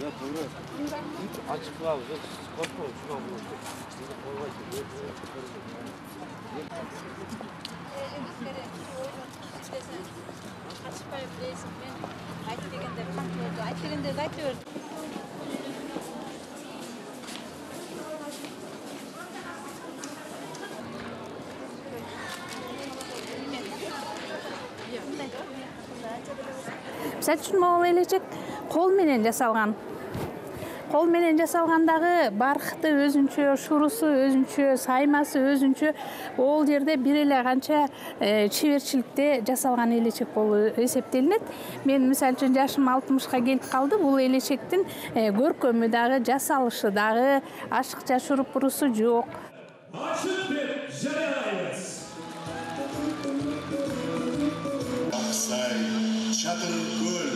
Açık var, korkma, şuna vur. Misal üчүн могул элечек кол менен жасалган. Кол менен жасалгандагы баркыты өзүнчө, шурусу өзүнчө, саймасы өзүнчө. Ол жерде бир эле канча чеберчиликте жасалган элечек болуп эсептелинет. Мен мисал үчүн жашым 60ка келип калды. Бул элечектин көркөмү дагы, жасалышы дагы ашыкча шурупурусу жок. Açık bir жарайбыз. Аксай, Чатыр көл,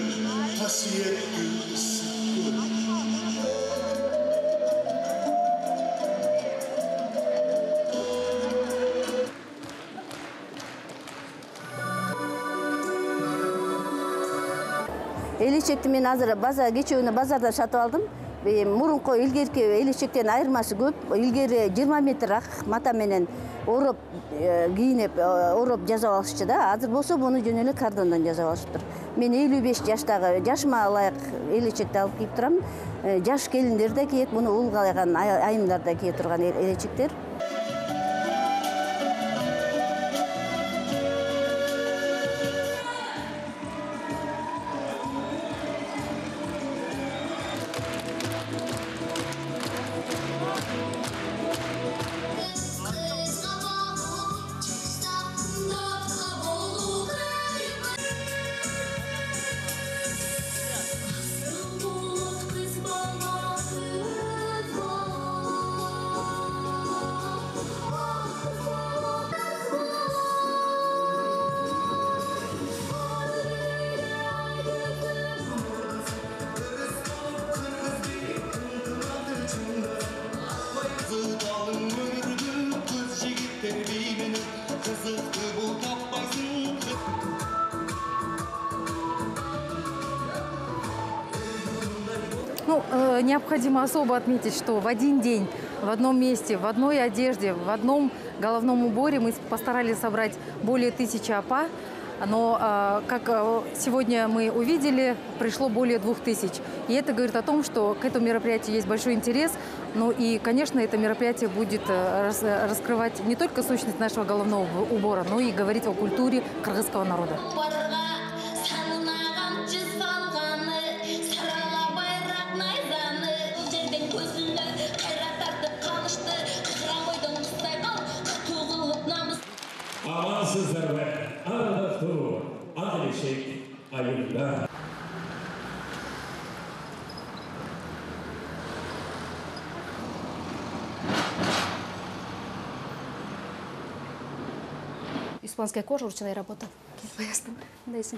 касиеттүү ысык көл. Элечекти мен азыр кечээ базардан сатып алдым. Мурунку илгерки элечектен айырмасы көп. Илгери 20 метр ак мата менен ороп кийинип, ороп жасап алышчу да. Азыр болсо буну жөн эле кардондон жасап алышыптыр. Мен 55 жаштагы жашыма ылайык элечекти алып кийип турам. Жаш келиндер да кийет, муну улгайган айымдарда кие турган элечектер. Необходимо особо отметить, что в один день, в одном месте, в одной одежде, в одном головном уборе мы постарались собрать более 1000 апа, но, как сегодня мы увидели, пришло более 2000. И это говорит о том, что к этому мероприятию есть большой интерес. Ну и, конечно, это мероприятие будет раскрывать не только сущность нашего головного убора, но и говорить о культуре кыргызского народа. Amansızlar ve arada durur, adilişek ayında. Испанская кожа, ручная работа. Поясню. Дайся.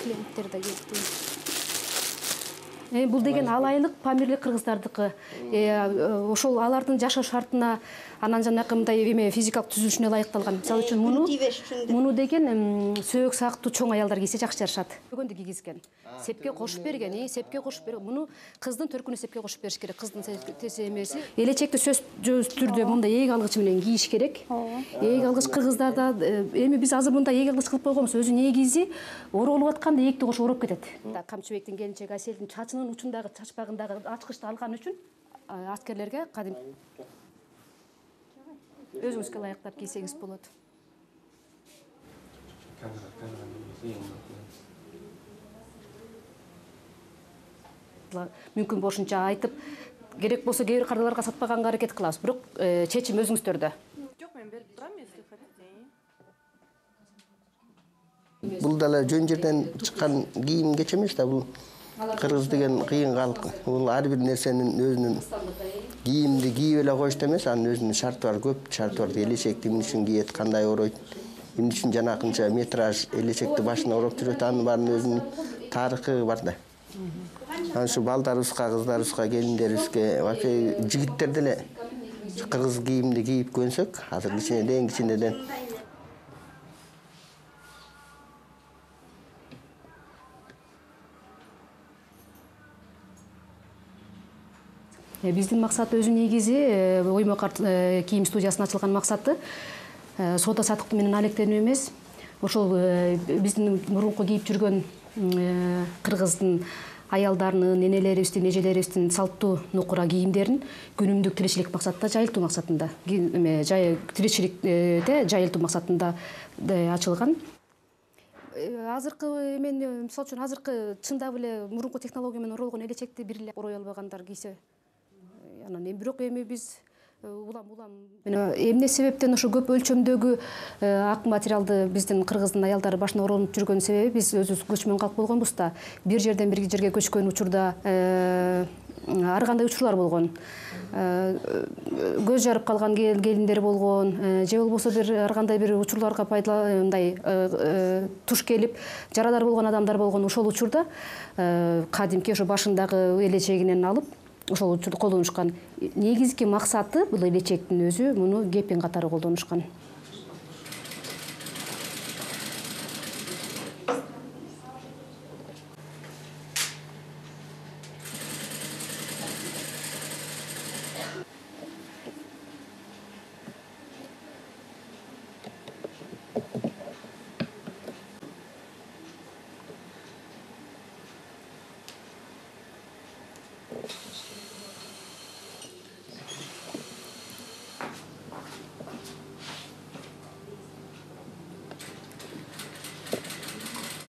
Клиенттер да келди. Бул деген алайлык Памирлик кыргыздардыкы. Ошол алардын жашоо шартына анан жанакы мындай эме физикалык түзүлүшүнө ылайыкталган. Мисалы үчүн муну деген сөөк сактуу чоң аялдар кийсе жакшы жарышат. Бүгөндө кийгизген. Сепке кошуп берген, сепке кошуп берген. Муну кыздын төркүнү сепке кошуп бериш керек. Кыздын эмеси. Элечекти сөзсүз түрдө мындай ээг алгыч менен кийиш керек. Ээг алгыч кыргыздарда эми биз азыр мындай ээг алгыч кылып койгонбуз. Өзүнүн эгизи оролуп атканда ээгти кошуп ороп кетет. Камчыбектин келинчеги Аселдин чачынын учундагы чачпагындагы ачкычты алган үчүн аскерлерге кадим өзүңүзгө ылайыктап кийсеңиз болот. Мүмкүн болушунча айтып, керек болсо кээ бир кардаларга сатпаганга аракет кылабыз, бирок чечим өзүңүздөрдө. Жок, мен берип турам, если хотите. Бул дала жөн жерден чыккан кийим кеч эмес да, бул кыргыз деген кыйын калк. Бул ар бир нерсенин өзүнүн кийимди кийип эле коюшту эмес, анын өзүнүн шарты бар, көп шарты бар. Элечекти эмне үчүн кийет, кандай оройт, эмне үчүн жанакынча метраж элечекти башына ороп жүрөт, анын баарынын өзүнүн тарыхы бар да. Анан ушу балдарыбызга, кыздарыбызга, келиндерибизге, вообще жигиттер деле кыргыз кийимди кийип көнсөк, азыр кичинеден Биздин максат өзү негизи ойма карт кийим студиясынын ачылган максаты соода саттык менен алектенүү эмес. Ошол биздин мурунку кийип жүргөн кыргыздын аялдарынын, энелерибиздин, эжелерибиздин салттуу нукура кийимдерин күнүмдүк тиричилик максатында жайылтуу максатында, тиричиликте жайылтуу максатында ачылган. Азыркы мисалы үчүн азыркы чындап эле мурунку технология менен оролгон элечекти бир эле орой албагандар кийсе, анан бирок эми биз улам эмне себептен ошо көп өлчөмдөгү ак материалды биздин кыргыздын аялдары башына оронуп жүргөн себеби биз өзүбүз көчмөн калк болгонбуз да. Бир жерден бир жерге көчкөн учурда ар кандай учурлар болгон. Көз жарып калган келиндер болгон, же болбосо ар кандай бир учурларга туш келип жарадар болгон адамдар болгон. Ошол учурда кадимки ошо башындагы элечегинен алып ошол учурду колдонушкан. Негизги максаты бул элечектин өзү муну кепин катары колдонушкан.